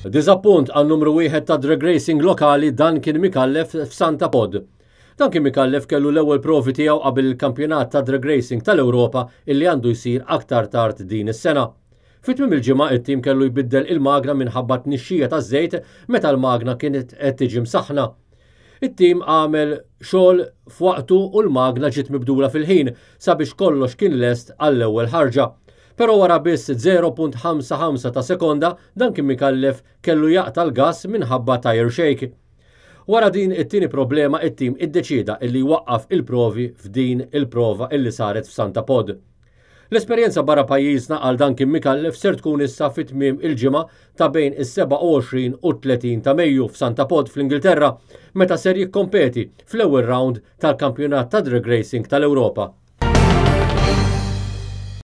Diżappunt għan-numru wieħed ta' drag racing lokali Duncan Micallef f'Santa Pod. Duncan Micallef kellu l-ewwel provi tiegħu qabel il-kampjonat ta' drag racing tal-Ewropa illi għandu jsir aktar tard din is-sena. Fi tmiem il-ġimgħa it-tim kellu jbiddel il-magna minħabba tnixxija taż-żejt meta l-magna kienet qed tiġi msaħħna. It-tim għamel xogħol f'waqtu u l-magna ġiet mibdula fil-ħin sabiex kollox kien lest għall-ewwel ħarġa. Però wara biss 0.55 ta' sekonda Duncan Micallef kellu jaqta' l-gass minħabba tire shake. Wara din it-tieni problema it-tim iddeċieda illi jwaqqaf il-provi f'din il-prova illi saret f'Santa Pod. L-esperjenza barra pajjiżna għal Duncan Micallef ser tkun issa fi tmiem il-ġimgħa ta' bejn is-27 u t-30 ta' Mejju f'Santa Pod fl-Ingilterra meta ser jikkompeti fl-ewwel round tal-Kampjonat ta' Drag Racing tal-Ewropa.